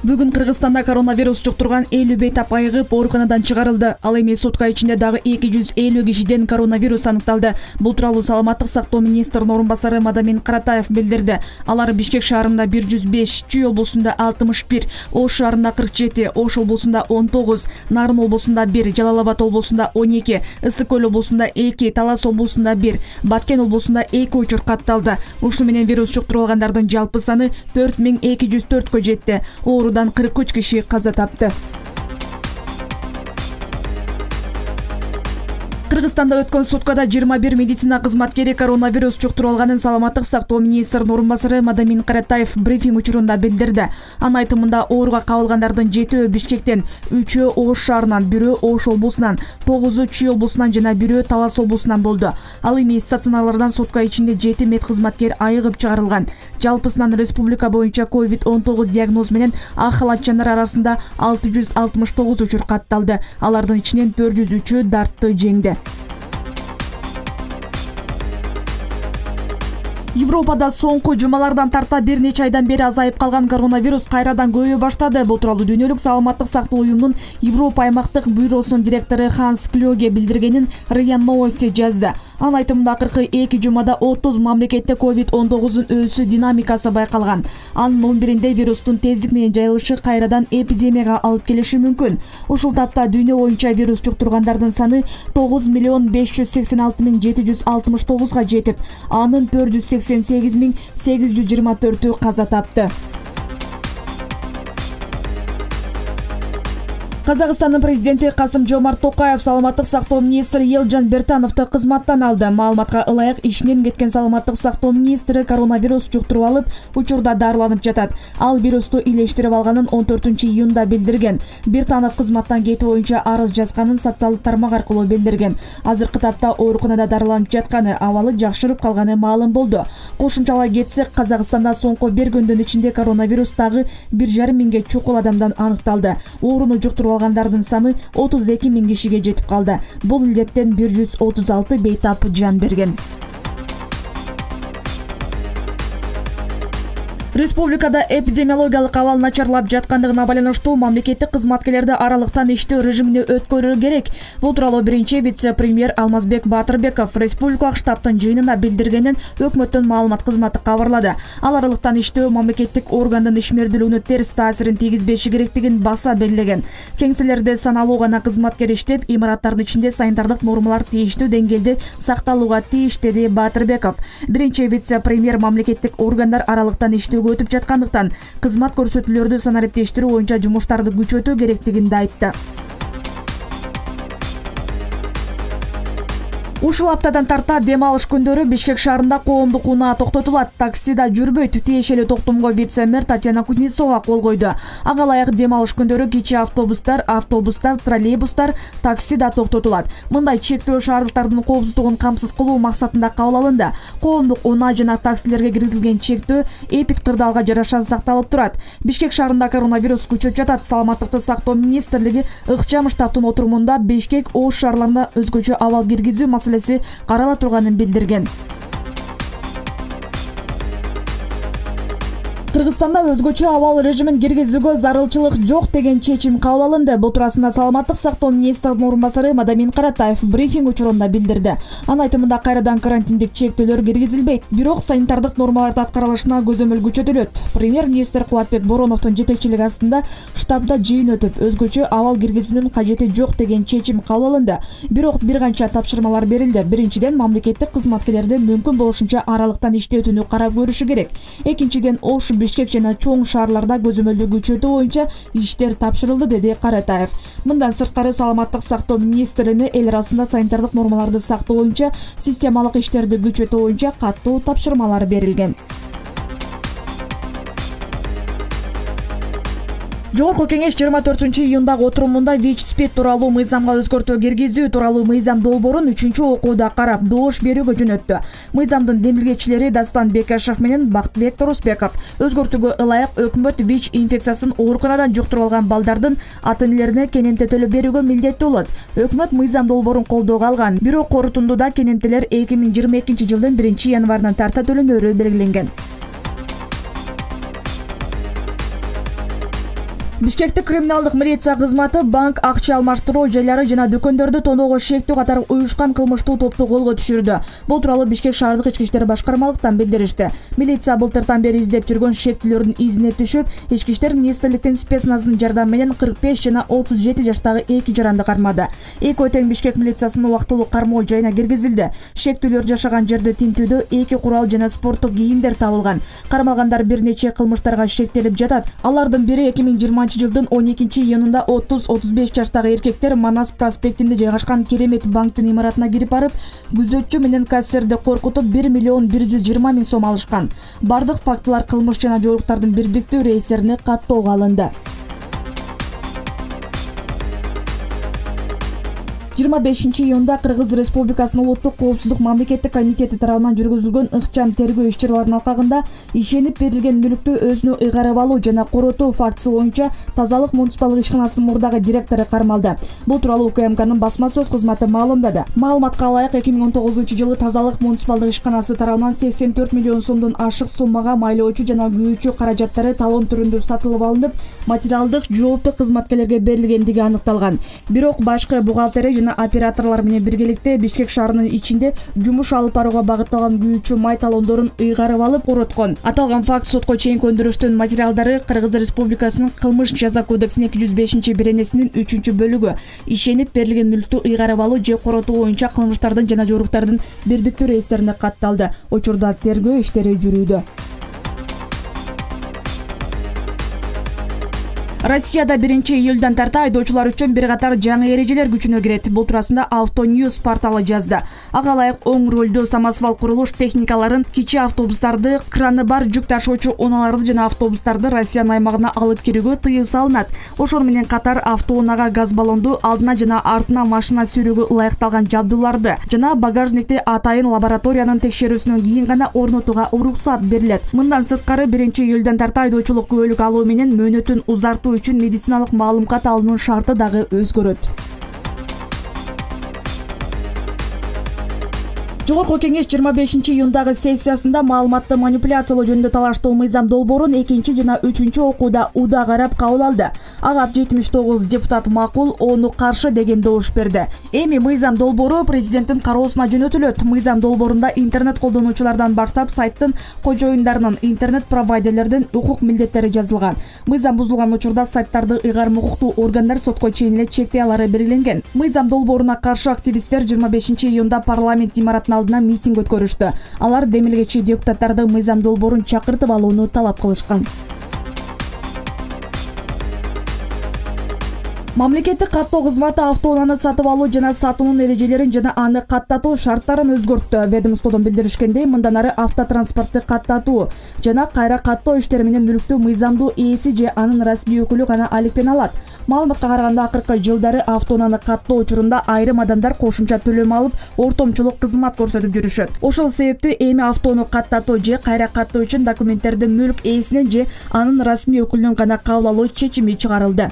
Бүгүн Кыргызстанда коронавирус жуктурган 50 бейтап айыгып ооруканадан чыгарылды. Ал эми сутка ичинде дагы 250 кишиден коронавирус аныкталды. Бул тууралуу саламаттык сактоо министринин орун басары Мадамин Каратаев билдирди. Алар Бишкек шаарында 105, Чүй облусунда 61, Ош шаарында 47, Ош облусунда 19, Нарын облусунда 1, Жалал Абад облусунда 12, Ысык Көл облусунда 2, Талас облусунда 1, Баткен облусунда 2 учур катталды. Ушуну менен вирус жуктурулгандардын жалпы саны 4204 жетти. Оорудан 43 киши каза тапты. Кыргызстанда өткөн суткада 21 медицина кызматкери коронавирус жуктуруп алганын саламаттык сактоо министринин орун басары Мадамин Каратаев брифинг учурунда билдирди. Анын айтымында ооруга кабылгандардын 7-өө Бишкектен, 3-өө Ош шаарынан, 1-өө Ош облусунан, 9-у Чүй облусунан жана 1-өө Талас облусунан болду. Ал эми стационарлардан сутка ичинде 7 медкызматкер айыгып чыгарылган. Жалпысынан республика боюнча COVID-19 диагноз менен ахалатчандар арасында 669 учур катталды. Алардын ичинен 403-ü дартты жеңди. Европада соңку жумалардан тарта бир нече айдан бери азайып калган коронавирус кайрадан көбөйө баштады. Бул тууралуу Дүйнөлүк саламаттык сактоо уюмунун Европа аймактык бюросунун директору Ханс Клёге билдиргенин РИА Новости жазды. Анын айтымында акыркы 2 жумада 30 мамлекетте COVID-19 өсүү динамикасы байкалган. Анын 11-inde вирустун тездик менен жайылышы кайрадан эпидемияга алып келиши мүмкүн. Ушул тапта дүйнө боюнча вирус жуктургандардын саны 9.586.769 жетип, анын 488.824 каза тапты. Казакстандын президенти Касым-Жомарт Токаев саламаттык сактоо министри Елжан Бертановду кызматтан алды. Маалыматка ылайык ишинен кеткен саламаттык сактоо министри коронавирус жуктуруп алып, учурда дарыланып жатат. Ал вирусту илештирип алганын 14-июнда билдирген. Бертанов кызматтан кетүү боюнча арыз жазганын социалдык тармак аркылуу билдирген. Азыркы тапта ооруканада дарыланып жатканы, абалы жакшырып калганы маалым болду. Кошумчалай кетсек, Казакстанда соңку бир күндүн ичинде коронавирус дагы 1,5 миңге чукул адамдан аныкталды. Ооруну жуктуруп алгандардын саны 32 миң кишиге жетип калды. Бул илдеттен 136 бейтап жан берген. Республикада эпидемиологиялык абал начарлап жаткандыгына байланыштуу мамлекеттик кызматкерлерди аралыктан иштөө режимине өткөрүү керек. Бул тууралуу биринчи вице-премьер Алмазбек Батырбеков республикалык штабтын жыйынында билдиргенин өкмөттүн маалымат кызматы кабарлады. Ал аралыктан иштөө мамлекеттик органдын ишмердүүлүгүнө терс таасирин тийгизбеши керектигин баса белгилеген. Кеңселерде саналуу гана кызматкер иштеп, имараттардын ичинде санитардык нормалар тийиштүү деңгээлде сакталууга тийиш, деди Батырбеков. Биринчи вице-премьер мамлекеттик органдар аралыктан иштөө өтүп жаткандыктан кызмат көрсөтүүлөрдү санариптештирүү боюнча жумуштарды күчөтүү керектигин да айтты. Ушул аптадан тарта дем алыш күндөрү Бишкек шаарында коомдук унаа токтотулат. Такси да жүрбөйт. Тиешелүү токтомго вице-мэр Татьяна Кузнецова кол койду. Ага ылайык дем алыш күндөрү кичи автобустар, троллейбустар, такси да токтотулат. Мындай чектөө шаардыктардын коопсуздугун камсыз кылуу максатында кабыл алынды. Коомдук унаа жана таксилерге киргизилген чектөө эпидкырдаалга жараша сакталып турат. Бишкек шаарында коронавирус күчөп жатат. Саламаттыкты сактоо министрлиги ыкчам штабтын отурумунда Бишкек, Ош шаарларына өзгөчө абал киргизүү маселеси карала турганын билдирген. Кыргызстанда өзгөчө абал режимин киргизүүгө зарылчылык жок деген чечим кабыл алынды. Бул туурасында саламаттык сактоо министринин орун басары Мадамин Каратаев брифинг учурунда билдирди. Анын айтымында кайрадан карантиндик чектөөлөр киргизилбейт, бирок санитардык нормаларды аткарылышына көзөмөл күчөтүлөт. Премьер-министр Кубатбек Бороновдун жетекчилиги астында штабда жыйын өтүп, өзгөчө абал киргизүүнүн кажети жок деген чечим кабыл алынды. Бирок бир канча тапшырмалар берилди. Биринчиден, мамлекеттик кызматкерлерди мүмкүн болушунча аралыктан иштетүүнү карап көрүшү керек. Экинчиден, Ош, Бишкек жана чоң шаарларда көзөмөлдү күчөтүү боюнча иштер тапшырылды, деди Каратаев. Мындан сырткары саламаттык сактоо министрини эл арасында санитардык нормаларды сактоо боюнча системалык иштерди күчөтүү боюнча каттуу тапшырмалар берилген. Жогорку кеңеш 24-июндагы отурумунда ВИЧ-СПИД тууралуу мыйзамга өзгөртүү киргизүү тууралуу мыйзам долбоорун 3-окууда карап доош берүүгө жөнөттү. Мыйзамдын демилгечилери Дастан Бекашев менен Бактыбек Торосбеков өзгөртүүгө ылайык өкмөт ВИЧ инфекциясын ооруканадан жуктуруп алган балдардын ата-энелерине кенемте төлөп берүүгө милдеттүү болот. Өкмөт мыйзам долбоорун колдоого алган, бирок корутундуда кенемтелер 2022-жылдын 1-январынан тарта төлөнөрү белгиленген. Бишкектик криминалдык милиция кызматы банк акча алмаштыруу жайлары жана дүкөндөрдү тоноого шектүү катары уюшкан кылмыштуу топту колго түшүрдү. Бул тууралуу Бишкек шаардык ички иштер башкармалыктан билдиришти. Милиция былтыртан бери издеп жүргөн шектүүлөрдүн изине түшүп, ички иштер министрликтин спецназынын жардамы менен 45 жана 37 жаштагы эки жаранды кармады. Эки өтең Бишкек милициясынын убактылуу кармоо жайына киргизилди. Шектүүлөр жашаган жерди тинтүүдө эки курал жана спорттук кийимдер табылган. Кармалгандар бир нече кылмыштарга шектелип жатат. Алардын бири 2020-жылдын 12-июнунда 30-35 жаштагы эркектер Манас проспектинде жайгашкан Керемет банктын имаратына кирип барып, күзөтчү менен кассирди коркутуп 1 миллион 120 000 сом алышкан. Бардык фактылар кылмыш жана жоруктардын бирдиктүү рейстерине каттоого алынды. 25-июнда Кыргыз Республикасынын Улуттук коопсуздук мамлекеттик комитети тарабынан жүргүзүлгөн ыкчам тергөө иш-чараларынын алкагында ишенип берилген мүлктү өзүнө ыйгарып алуу жана коротуу фактысы боюнча Тазалык муниципалдык ишканасынын мурдагы директору кармалды. Бул тууралуу УКМКнын басма сөз кызматы маалымдады. Маалыматка ылайык 2019-жылы Тазалык муниципалдык ишканасы тарабынан 84 миллион сомдон ашык суммага майлоочу жана күйүүчү каражаттары талон түрүндө сатылып алынып, материалдык жооптуу кызматкерлерге берилгендиги аныкталган. Бирок башкы бухгалтерия жана операторлор менен биргеликте Бишкек шаарынын ичинде жумуш алып барууга багытталган күйүүчү май талондорун ыйгарып алып короткон. Аталган факт сотко чейинки өндүрүштүн материалдары Кыргыз Республикасынын кылмыш жаза кодексинин 205-беренесинин 3-бөлүгү ишенип берилген мүлктү ыйгарып алуу же коротуу боюнча кылмыштардын жана жоруктардын бирдиктүү рейстерине катталды. Учурда тергөө иштери жүрүүдө. Россияда 1-июлдан тарта айдоочулар үчүн бир катар жаңы эрежелер күчүнө кирет. Бул туурасында Автоньюз порталы жазды. Ага ылайык оң рөлдүү самосвал курулуш техникаларын, кичи автобустарды, краны бар жүк ташуучу унааларды жана автобустарды Россиянын аймагына алып кирүүгө тыюу салынат. Ошону менен катар автоунага газ баллонду, алдына жана артына машина сүйрүүгө ылайыкталган жабдууларды жана багажникти атайын лабораториянын текшерүүсүнөн кийин гана орнотууга уруксат берилет. Мындан сырткары 1-июлдан тарта айдоочулук күбөлүк алуу менен мөөнөтүн узартуу үчүн медициналык маалымат алуунун шарты дагы өзгөрөт. Жогорку кеңеш 25-июндагы сессиясында маалыматты манипуляциялоо жөнүндө талаштуу мыйзам долбоорун 2 жана 3 окууда уда карап кабыл алды. Ага 79 депутат макул, 10 каршы деген добуш берди. Эми мыйзам долбоору президенттин кароосуна жөнөтүлөт. Мыйзам долбоорунда интернет колдонуучулардан баштап сайттын кожоюндарынын, интернет провайдерлердин укук милдеттери жазылган. Мыйзам бузулган учурда сайттарды ыйгарым укуктуу органдар сотко чейин эле чектей алары белгиленген. Мыйзам долбооруна каршы активисттер 25-июнда парламент имаратына алдына митинг өткөрүштү. Алар демилгечи депутаттарды мыйзам долбоорун чакыртып алууну талап кылышкан. Мамлекеттик каттоо кызматы автоунааны сатып алуу жана сатуунун эрежелерин жана аны каттатуу шарттарын өзгөрттү. Ведомстводон билдиришкендей, мындан ары автотранспортты каттатуу жана кайра каттоо иштери менен мүлктү мыйзамдуу ээси же анын расмий өкүлү гана алектене алат. Маалыматка караганда, акыркы жылдары автоунааны каттоо учурунда айрым адамдар кошумча төлөм алып, ортомчулук кызмат көрсөтүп жүрүшөт. Ошол себептен эми автоону каттатуу же кайра каттоо үчүн документтерди мүлк ээсинен же анын расмий өкүлүнөн гана кабыл алуу чечими чыгарылды.